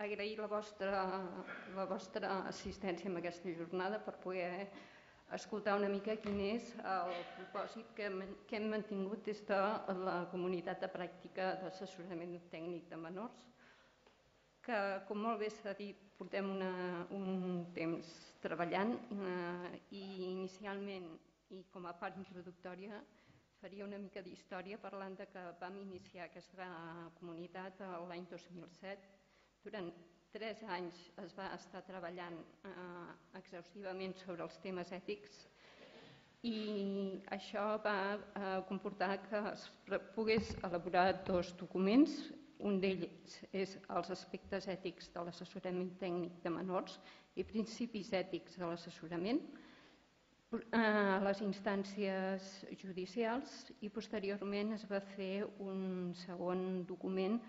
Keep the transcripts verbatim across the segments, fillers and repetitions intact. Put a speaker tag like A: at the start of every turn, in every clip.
A: agrair la vostra, la vostra assistència en aquesta jornada per poder escoltar una mica quin és el propòsit que hem, que hem mantingut des de la comunitat de pràctica d'assessorament tècnic de menors, que, com molt bé s'ha dit, portem una, un temps treballant eh, i inicialment, i com a part introductòria, faria una mica d'història parlant de que vam iniciar aquesta comunitat l'any dos mil set. Durant tres anys es va estar treballant eh, exhaustivament sobre els temes ètics i això va eh, comportar que es pogués elaborar dos documents. Un d'ells és els aspectes ètics de l'assessorament tècnic de menors i principis ètics de l'assessorament a les instàncies judicials i posteriorment es va fer un segon document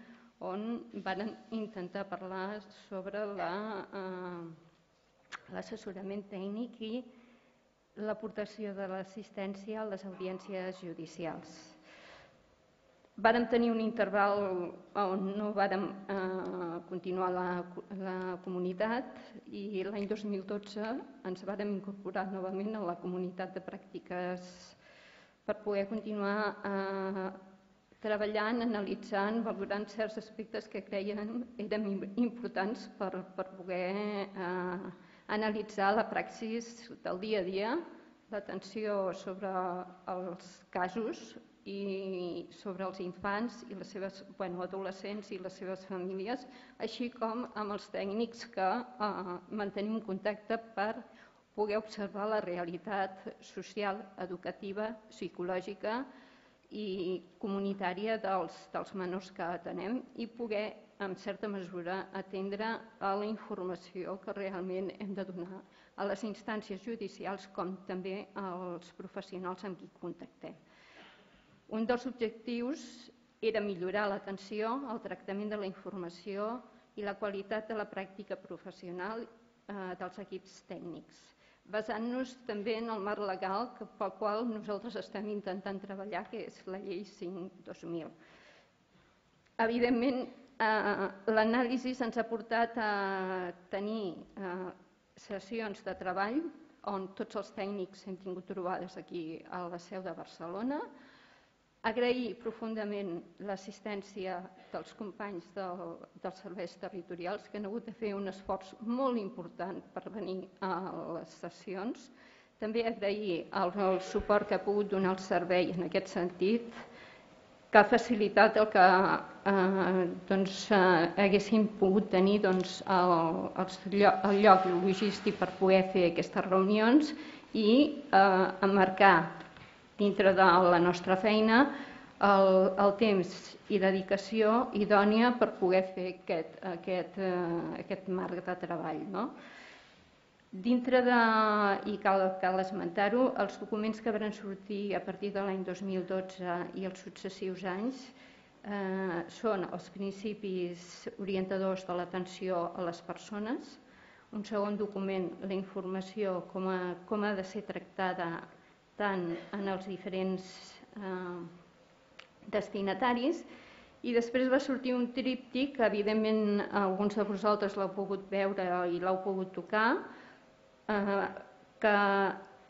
A: on van intentar parlar sobre l'assessorament tècnic i l'aportació de l'assistència a les audiències judicials. Vàrem tenir un interval on no vàrem eh, continuar la, la comunitat i l'any dos mil dotze ens vàrem incorporar novament a la comunitat de pràctiques per poder continuar eh, treballant, analitzant, valorant certs aspectes que creiem eren importants per, per poder eh, analitzar la praxis del dia a dia, l'atenció sobre els casos i sobre els infants i les seves bueno, adolescents i les seves famílies, així com amb els tècnics que eh, mantenim contacte per poder observar la realitat social, educativa, psicològica i comunitària dels, dels menors que atenem i poder, en certa mesura, atendre a la informació que realment hem de donar a les instàncies judicials com també als professionals amb qui contactem. Un dels objectius era millorar l'atenció, el tractament de la informació i la qualitat de la pràctica professional eh, dels equips tècnics, basant-nos també en el marc legal pel qual nosaltres estem intentant treballar, que és la llei cinc dos mil. Evidentment, eh, l'anàlisi ens ha portat a tenir eh, sessions de treball on tots els tècnics hem tingut trobades aquí a la seu de Barcelona. Agrair profundament l'assistència dels companys del, dels serveis territorials que han hagut de fer un esforç molt important per venir a les sessions. També agrair el, el suport que ha pogut donar el servei en aquest sentit, que ha facilitat el que eh, doncs, eh, haguéssim pogut tenir doncs, el, el, el lloc logístic per poder fer aquestes reunions i eh, emmarcar dintre de la nostra feina el, el temps i dedicació idònia per poder fer aquest, aquest, eh, aquest marc de treball. No? Dintre de, i cal, cal esmentar-ho, els documents que van sortir a partir de l'any dos mil dotze i els successius anys eh, són els principis orientadors de l'atenció a les persones, un segon document, la informació, com, a, com ha de ser tractada tant en els diferents eh, destinataris, i després va sortir un tríptic que evidentment alguns de vosaltres l'heu pogut veure i l'heu pogut tocar, eh, que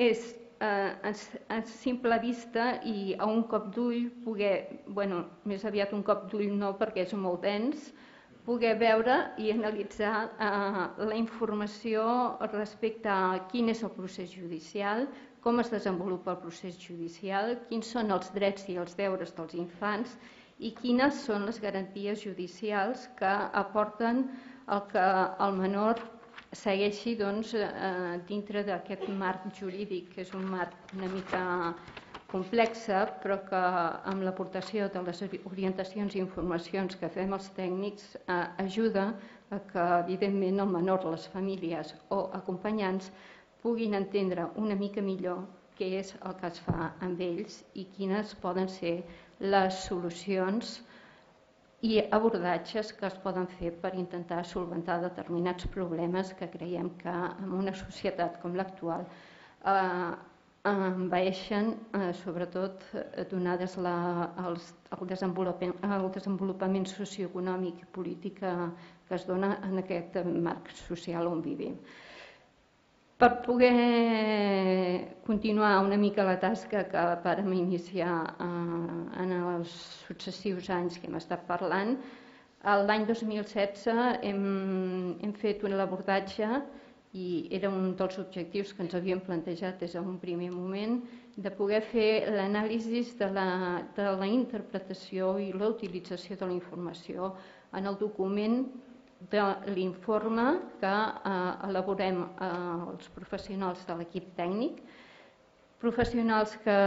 A: és eh, a, a simple vista i a un cop d'ull poder, bueno, més aviat un cop d'ull no perquè és molt dens, poder veure i analitzar eh, la informació respecte a quin és el procés judicial, com es desenvolupa el procés judicial, quins són els drets i els deures dels infants i quines són les garanties judicials que aporten el que el menor segueixi doncs, eh, dintre d'aquest marc jurídic, que és un marc una mica complex, però que amb l'aportació de les orientacions i informacions que fem els tècnics eh, ajuda a que, evidentment, el menor, les famílies o acompanyants puguin entendre una mica millor què és el que es fa amb ells i quines poden ser les solucions i abordatges que es poden fer per intentar solventar determinats problemes que creiem que en una societat com l'actual eh, envaeixen, sobretot donades el desenvolupament socioeconòmic i polític que es dona en aquest marc social on vivim. Per poder continuar una mica la tasca que vàrem iniciar en els successius anys que hem estat parlant, l'any dos mil setze hem fet un abordatge i era un dels objectius que ens havíem plantejat des d'un primer moment, de poder fer l'anàlisi de la interpretació i la utilització de la informació en el document de l'informe que elaborem els professionals de l'equip tècnic, professionals que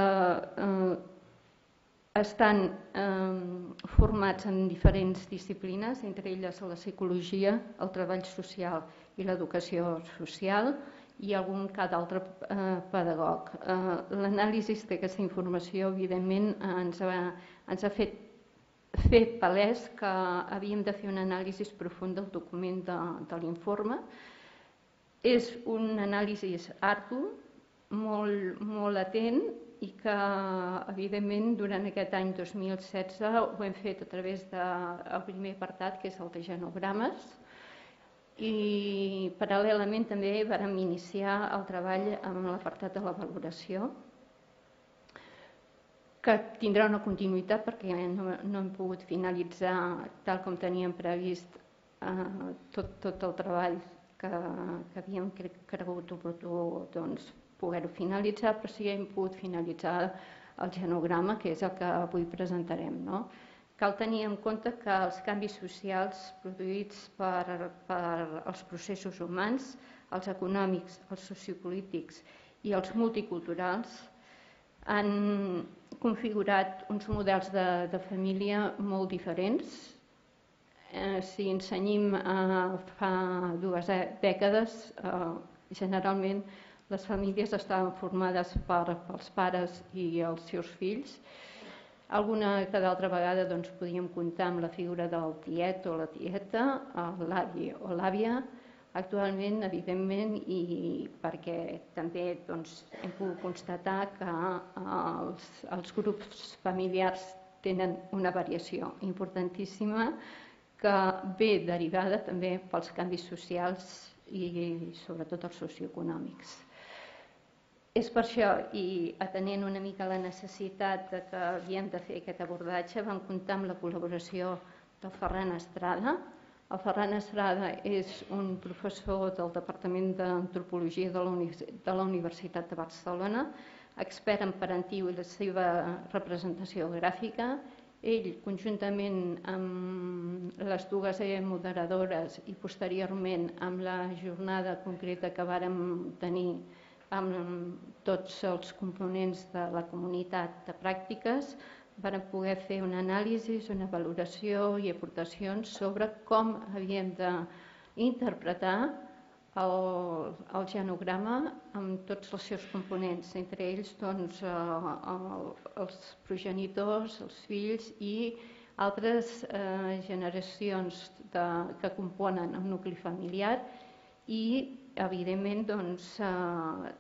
A: estan formats en diferents disciplines, entre elles la psicologia, el treball social i l'educació social i algun cada altre pedagog. L'anàlisi d'aquesta informació, evidentment, ens ha fet fer palès que havíem de fer una anàlisi profunda del document de l'informe. És un anàlisi ardu, molt atent, i que, evidentment, durant aquest any dos mil setze ho hem fet a través del primer apartat, que és el de genogrames, i paral·lelament també vam iniciar el treball amb l'apartat de la valoració, que tindrà una continuïtat perquè no hem pogut finalitzar tal com teníem previst tot el treball que havíem cregut oportú poder-ho finalitzar, però sí que hem pogut finalitzar el genograma, que és el que avui presentarem. Cal tenir en compte que els canvis socials produïts per els processos humans, els econòmics, els sociopolítics i els multiculturals, han configurat uns models de família molt diferents. Si ens cenyim a fa dues dècades, generalment les famílies estaven formades pels pares i els seus fills. Alguna que d'altra vegada podíem comptar amb la figura del tiet o la tieta, l'avi o l'àvia. Actualment, evidentment, i perquè també hem pogut constatar que els grups familiars tenen una variació importantíssima que ve derivada també pels canvis socials i sobretot els socioeconòmics. És per això, i atenent una mica la necessitat que havíem de fer aquest abordatge, vam comptar amb la col·laboració del Ferran Estrada. El Ferran Estrada és un professor del Departament d'Antropologia de la Universitat de Barcelona, expert en parentiu i la seva representació gràfica. Ell, conjuntament amb les dues moderadores i posteriorment amb la jornada concreta que vàrem tenir amb tots els components de la comunitat de pràctiques, vam poder fer una anàlisi, una valoració i aportacions sobre com havíem d'interpretar el genograma amb tots els seus components, entre ells els progenitors, els fills i altres generacions que componen el nucli familiar i, evidentment,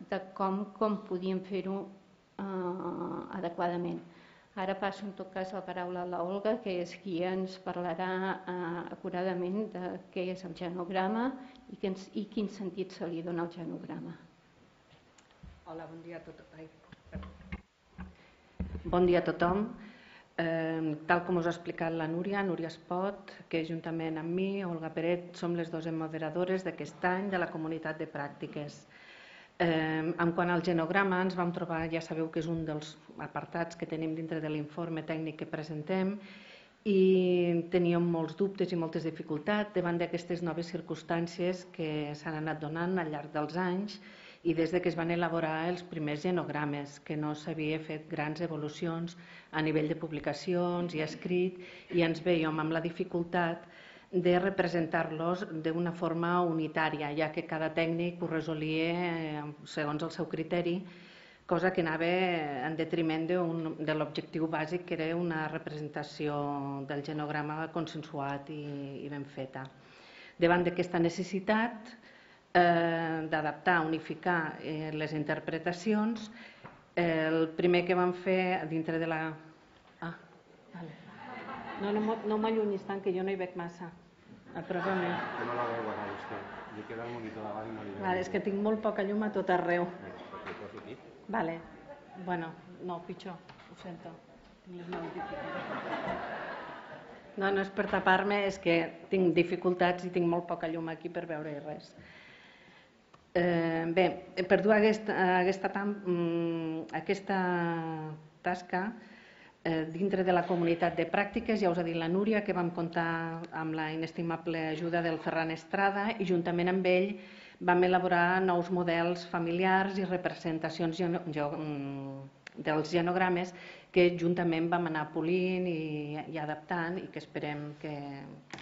A: de com podíem fer-ho adequadament. Ara passo en tot cas la paraula a l'Olga, que és qui ens parlarà acuradament de què és el genograma i quin sentit se li dona al genograma.
B: Hola, bon dia a tothom. Bon dia a tothom. Tal com us ha explicat la Núria, Núria Espot, que juntament amb mi, Olga Peret, som les dues moderadores d'aquest any de la comunitat de pràctiques. En quant al genograma, ens vam trobar, ja sabeu que és un dels apartats que tenim dintre de l'informe tècnic que presentem, i teníem molts dubtes i moltes dificultats davant d'aquestes noves circumstàncies que s'han anat donant al llarg dels anys i des que es van elaborar els primers genogrames, que no s'havia fet grans evolucions a nivell de publicacions i escrit, i ens veiem amb la dificultat de representar-los d'una forma unitària, ja que cada tècnic ho resolia segons el seu criteri, cosa que anava en detriment de l'objectiu bàsic, que era una representació del genograma consensuat i ben feta. Davant d'aquesta necessitat d'adaptar, unificar les interpretacions, El primer que vam fer dintre de la... Ah, vale. No, no m'allunyis tant, que jo no hi veig massa. Apropa-me.
C: Jo no la veu ara, vostè. Li queda el monitor davant i no li veu.
B: Vale, és que tinc molt poca llum a tot arreu.
C: Li poso aquí?
B: Vale. Bueno, no, pitjor. Ho sento. Tinc les mans dificultats. No, no és per tapar-me, és que tinc dificultats i tinc molt poca llum aquí per veure res. Eh, bé, per dur aquesta, aquesta, aquesta tasca eh, dintre de la comunitat de pràctiques, ja us ha dit la Núria, que vam comptar amb la inestimable ajuda del Ferran Estrada i juntament amb ell vam elaborar nous models familiars i representacions dels genogrames que juntament vam anar polint i, i adaptant i que esperem que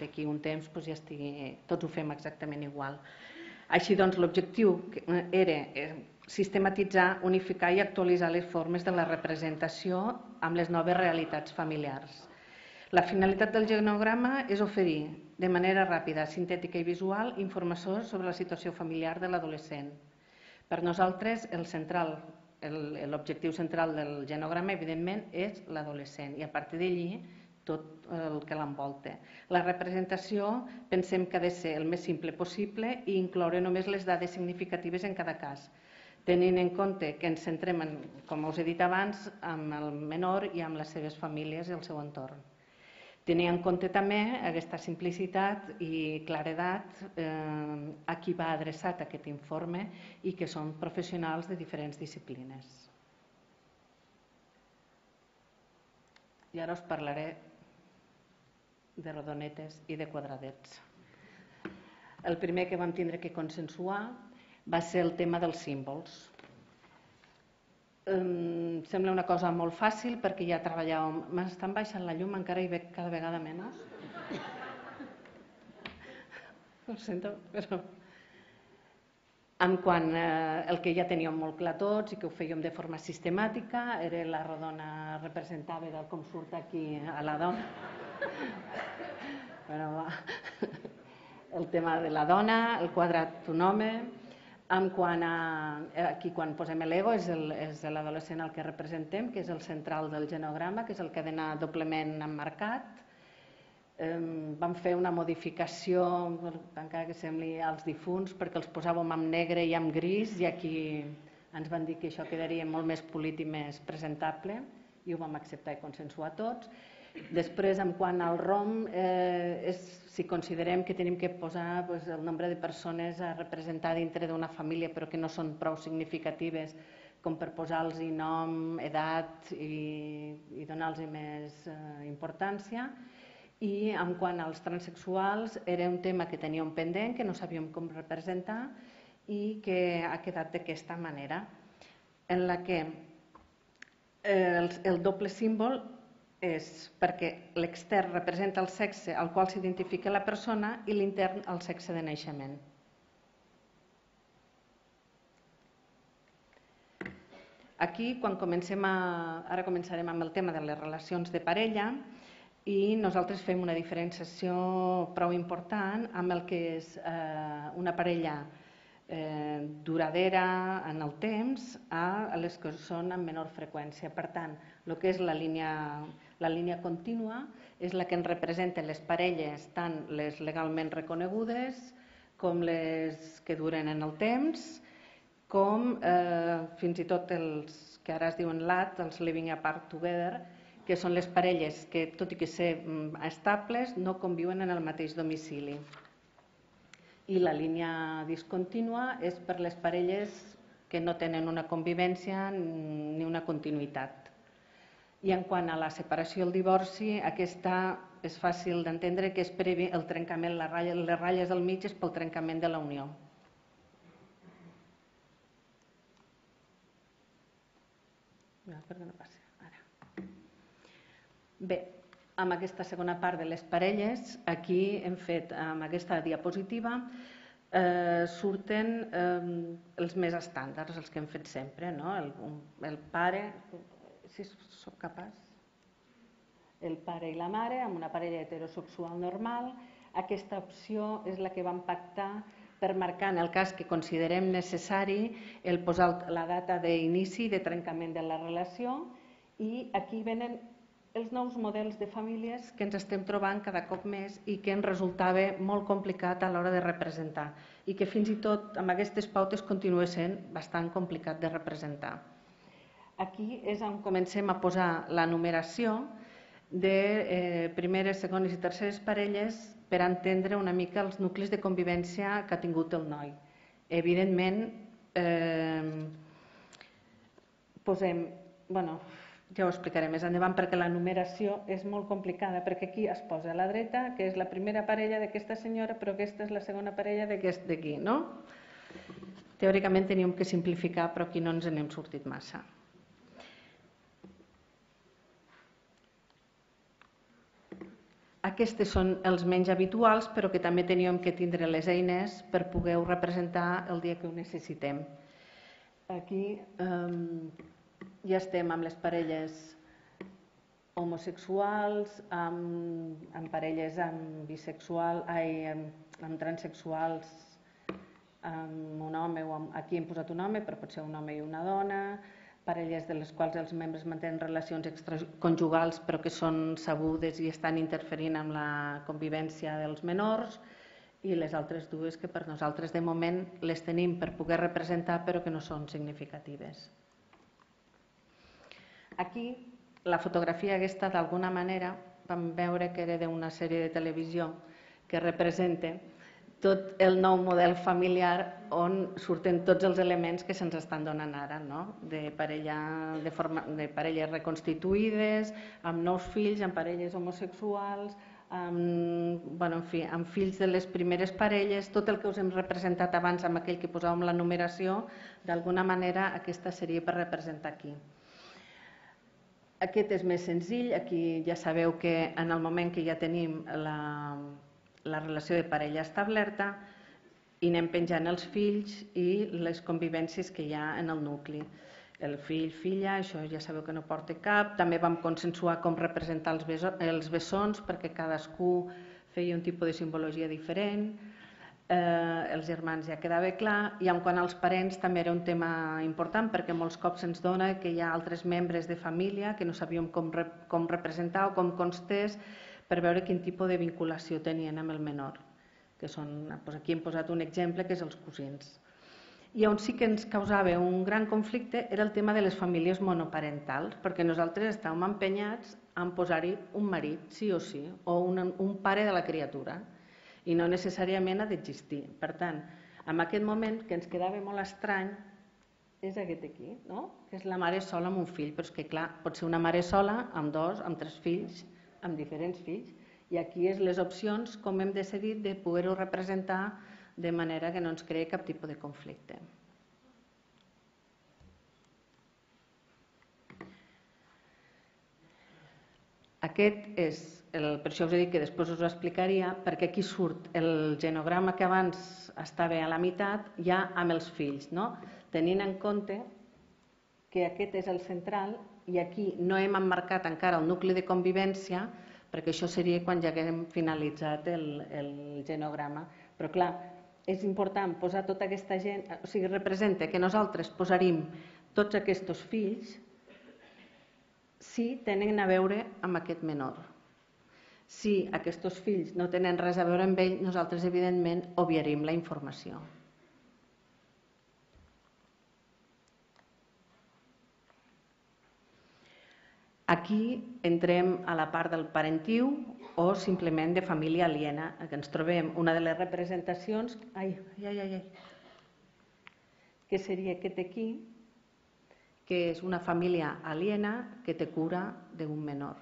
B: d'aquí un temps doncs, ja estigui, tots ho fem exactament igual. Així doncs, l'objectiu era sistematitzar, unificar i actualitzar les formes de la representació amb les noves realitats familiars. La finalitat del genograma és oferir de manera ràpida, sintètica i visual informació sobre la situació familiar de l'adolescent. Per nosaltres, el central, l'objectiu central del genograma, evidentment, és l'adolescent i a partir d'allí tot el que l'envolta. La representació pensem que ha de ser el més simple possible i incloure només les dades significatives en cada cas, tenint en compte que ens centrem, com us he dit abans, amb el menor i amb les seves famílies i el seu entorn. Tenir en compte també aquesta simplicitat i claredat a qui va adreçat aquest informe i que són professionals de diferents disciplines. I ara us parlaré de rodonetes i de quadradets. El primer que vam tindre que consensuar va ser el tema dels símbols. Em sembla una cosa molt fàcil perquè ja treballàvem... M'estan baixant la llum, encara hi veig cada vegada menys. Ho sento, però... En quant al que ja teníem molt clar tots i que ho fèiem de forma sistemàtica, era la rodona representava del com surt aquí a la dona. El tema de la dona, el quadrat un home. En quant a... Aquí quan posem l'ego és l'adolescent al que representem, que és el central del genograma, que és el que ha d'anar doblement emmarcat. Vam fer una modificació, encara que sembli als difunts, perquè els posàvem en negre i en gris i aquí ens van dir que això quedaria molt més polit i més presentable i ho vam acceptar i consensuar tots. Després, en quant al rom, si considerem que tenim que posar el nombre de persones a representar dintre d'una família però que no són prou significatives com per posar-los nom, edat i donar-los més importància. I en quant als transsexuals, era un tema que teníem pendent, que no sabíem com representar i que ha quedat d'aquesta manera, en la que el doble símbol és perquè l'extern representa el sexe al qual s'identifica la persona i l'intern el sexe de naixement. Aquí, quan comencem a... Ara començarem amb el tema de les relacions de parella i nosaltres fem una diferenciació prou important amb el que és una parella duradera en el temps a les que són amb menor freqüència. Per tant, el que és la línia contínua és la que ens representa les parelles, tant les legalment reconegudes com les que duren en el temps, com fins i tot els que ara es diuen L A T, els Living Apart Together, que són les parelles que, tot i que ser estables, no conviuen en el mateix domicili. I la línia discontínua és per les parelles que no tenen una convivència ni una continuïtat. I en quant a la separació i el divorci, aquesta és fàcil d'entendre que és per el trencament, les ratlles del mig és pel trencament de la unió. Per què no passa? Bé, amb aquesta segona part de les parelles, aquí hem fet, amb aquesta diapositiva, surten els més estàndards, els que hem fet sempre, el pare, si sóc capaç, el pare i la mare, amb una parella heterosexual normal. Aquesta opció és la que vam pactar per marcar, en el cas que considerem necessari, el posar la data d'inici de trencament de la relació, i aquí venen els nous models de famílies que ens estem trobant cada cop més i que ens resultava molt complicat a l'hora de representar i que fins i tot amb aquestes pautes continua sent bastant complicat de representar. Aquí és on comencem a posar la numeració de eh, primeres, segones i terceres parelles per entendre una mica els nuclis de convivència que ha tingut el noi. Evidentment, eh, posem... bueno, ja ho explicaré més endavant perquè la numeració és molt complicada, perquè aquí es posa a la dreta, que és la primera parella d'aquesta senyora, però aquesta és la segona parella d'aquest d'aquí, no? Teòricament teníem que simplificar, però aquí no ens n'hem sortit massa. Aquests són els menys habituals, però que també teníem que tindre les eines per poder-ho representar el dia que ho necessitem. Aquí eh, ja estem amb les parelles homosexuals, amb, amb parelles amb bisexual, ai, amb, amb transexuals, amb un home, o amb, aquí hem posat un home, però pot ser un home i una dona, parelles de les quals els membres mantenen relacions extraconjugals però que són sabudes i estan interferint amb la convivència dels menors, i les altres dues que per nosaltres de moment les tenim per poder representar però que no són significatives. Aquí la fotografia aquesta d'alguna manera vam veure que era d'una sèrie de televisió que representa tot el nou model familiar on surten tots els elements que se'ns estan donant ara, no? de, parella, de, forma, de parelles reconstituïdes, amb nous fills, amb parelles homosexuals, amb, bueno, en fi, amb fills de les primeres parelles, tot el que us hem representat abans amb aquell que posàvem la numeració, d'alguna manera aquesta seria per representar aquí. Aquest és més senzill, aquí ja sabeu que en el moment que ja tenim la... la relació de parella establerta i anem penjant els fills i les convivències que hi ha en el nucli. El fill, filla, això ja sabeu que no porta cap. També vam consensuar com representar els bessons perquè cadascú feia un tipus de simbologia diferent. Eh, els germans ja quedava clar, i en quant als parents també era un tema important perquè molts cops ens dona que hi ha altres membres de família que no sabíem com, rep com representar o com constés per veure quin tipus de vinculació tenien amb el menor, que són, doncs aquí hem posat un exemple que és els cosins. I on sí que ens causava un gran conflicte era el tema de les famílies monoparentals, perquè nosaltres estàvem empenyats en posar-hi un marit, sí o sí, o un, un pare de la criatura, i no necessàriament ha d'existir. Per tant, en aquest moment que ens quedava molt estrany és aquest aquí, no? Que és la mare sola amb un fill, però és que clar, pot ser una mare sola amb dos, amb tres fills, amb diferents fills, i aquí és les opcions com hem decidit de poder-ho representar de manera que no ens creï cap tipus de conflicte. Aquest és, el, per això us he dit que després us ho explicaria, perquè aquí surt el genograma que abans estava a la meitat ja amb els fills, no? Tenint en compte que aquest és el central i aquí no hem emmarcat encara el nucli de convivència perquè això seria quan ja haguem finalitzat el, el genograma. Però clar, és important posar tota aquesta gent, o sigui, representa que nosaltres posaríem tots aquests fills si tenen a veure amb aquest menor. Si aquests fills no tenen res a veure amb ell, nosaltres evidentment obviaríem la informació. Aquí entrem a la part del parentiu o simplement de família aliena, que ens trobem una de les representacions, ai, ai, ai, ai, que seria aquest aquí, que és una família aliena que té cura d'un menor.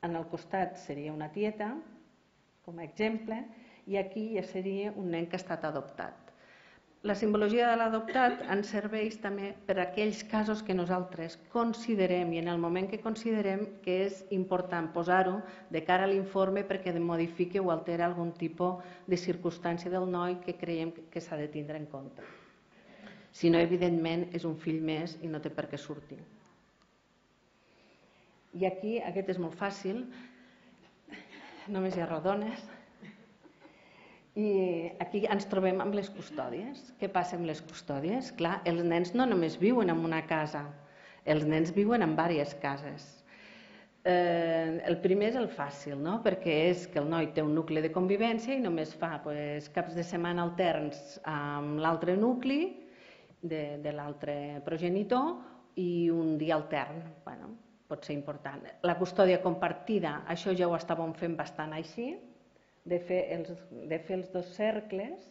B: En el costat seria una tieta, com a exemple, i aquí ja seria un nen que ha estat adoptat. La simbologia de l'adoptat ens serveix també per a aquells casos que nosaltres considerem, i en el moment que considerem que és important posar-ho de cara a l'informe perquè modifiqui o alteri algun tipus de circumstància del noi que creiem que s'ha de tindre en compte. Si no, evidentment, és un fill més i no té per què sortir. I aquí, aquest és molt fàcil, només hi ha rodones. I aquí ens trobem amb les custòdies. Què passa amb les custòdies? Clar, els nens no només viuen en una casa, els nens viuen en diverses cases. Eh, el primer és el fàcil, no? Perquè és que el noi té un nucli de convivència i només fa pues, caps de setmana alterns amb l'altre nucli de, de l'altre progenitor i un dia altern. Bueno, pot ser important. La custòdia compartida, això ja ho estàvem fent bastant així, de fer els, de fer els dos cercles,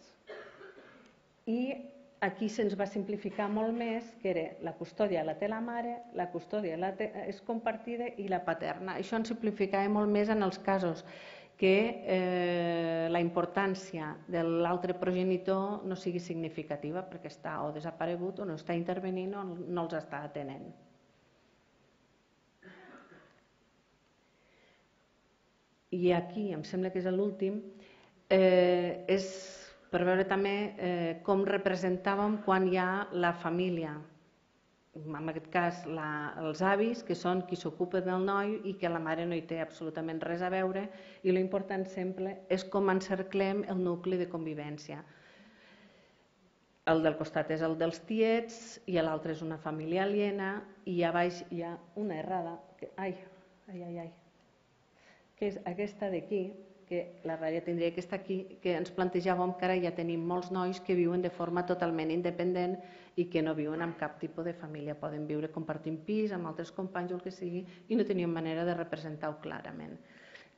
B: i aquí se'ns va simplificar molt més, que era la custòdia la té la mare, la custòdia la té, és compartida i la paterna. Això ens simplificava molt més en els casos que eh, la importància de l'altre progenitor no sigui significativa perquè està o desaparegut o no està intervenint o no els està atenent. I aquí, em sembla que és l'últim, eh, és per veure també eh, com representàvem quan hi ha la família, en aquest cas la, els avis, que són qui s'ocupa del noi i que la mare no hi té absolutament res a veure, i l'important sempre és com encerclem el nucli de convivència. El del costat és el dels tiets i l'altre és una família aliena i a baix hi ha una errada, que, ai, ai, ai, ai, que és aquesta d'aquí, que la ratlla tindria que estar aquí, que ens plantejàvem que ara ja tenim molts nois que viuen de forma totalment independent i que no viuen amb cap tipus de família. Poden viure compartint pis amb altres companys o el que sigui i no tenien manera de representar-ho clarament.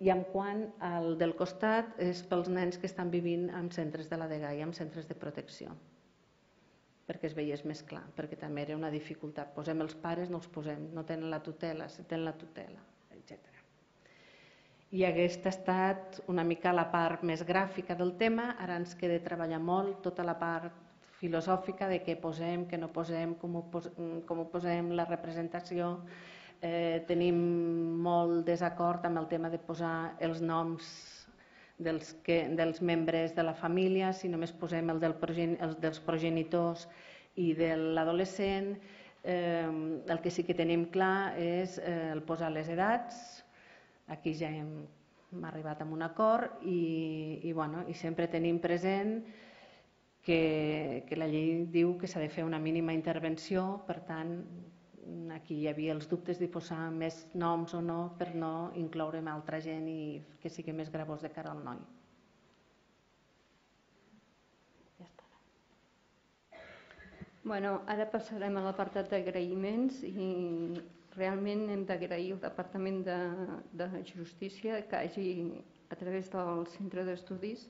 B: I en quant al del costat és pels nens que estan vivint en centres de la dgaia, en centres de protecció, perquè es veiés més clar, perquè també era una dificultat. Posem els pares, no els posem, no tenen la tutela, si tenen la tutela, etcètera. I aquesta ha estat una mica la part més gràfica del tema. Ara ens queda treballar molt tota la part filosòfica de què posem, què no posem, com ho, pos com ho posem, la representació. Eh, tenim molt desacord amb el tema de posar els noms dels, que, dels membres de la família, si només posem el del progen els dels progenitors i de l'adolescent. Eh, el que sí que tenim clar és eh, el posar les edats. Aquí ja hem, hem arribat a un acord i, i, bueno, i sempre tenim present que, que la llei diu que s'ha de fer una mínima intervenció, per tant, aquí hi havia els dubtes de posar més noms o no per no incloure altra gent i que sigui més gravós de cara al noi. Ja està.
A: Bueno, ara passarem a l'apartat d'agraïments i realment hem d'agrair al Departament de, de Justícia que hagi, a través del Centre d'Estudis,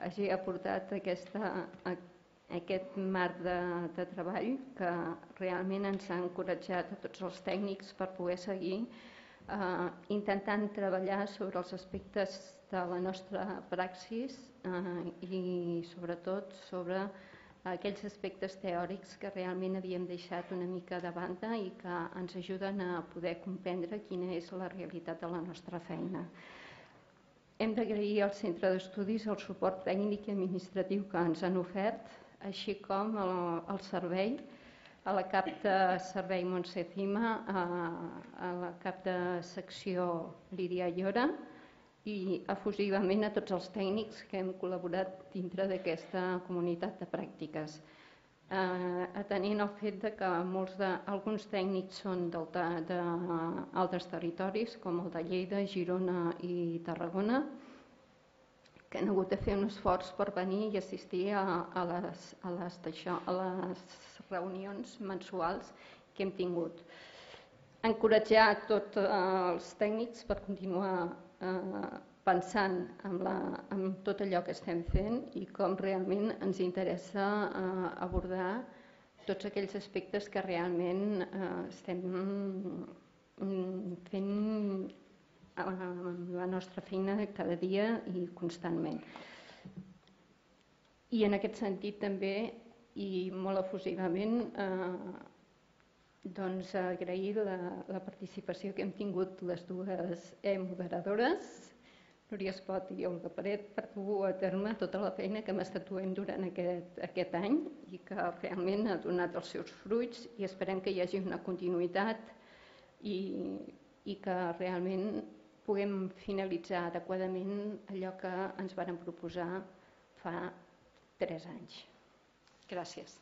A: hagi aportat aquesta, aquest marc de, de treball que realment ens ha encoratjat a tots els tècnics per poder seguir eh, intentant treballar sobre els aspectes de la nostra praxis eh, i sobretot sobre aquells aspectes teòrics que realment havíem deixat una mica de banda i que ens ajuden a poder comprendre quina és la realitat de la nostra feina. Hem d'agrair al Centre d'Estudis el suport tècnic i administratiu que ens han ofert, així com el, el servei, a la cap de servei Montse Cima, a, a la cap de secció Lídia Llora, i efusivament a tots els tècnics que hem col·laborat dintre d'aquesta comunitat de pràctiques. Eh, atenent el fet de que molts de, alguns tècnics són d'altres territoris, com el de Lleida, Girona i Tarragona, que han hagut de fer un esforç per venir i assistir a, a, les, a, les, això, a les reunions mensuals que hem tingut. Encoratjar tots els tècnics per continuar Eh, pensant en, la, en tot allò que estem fent i com realment ens interessa eh, abordar tots aquells aspectes que realment eh, estem fent la nostra feina cada dia i constantment. I en aquest sentit també, i molt efusivament, eh, doncs agrair la, la participació que hem tingut les dues e-moderadores, Núria Espot i Olga Peret, per dur a terme tota la feina que hem estat duent durant aquest, aquest any i que realment ha donat els seus fruits i esperem que hi hagi una continuïtat i, i que realment puguem finalitzar adequadament allò que ens varen proposar fa tres anys. Gràcies.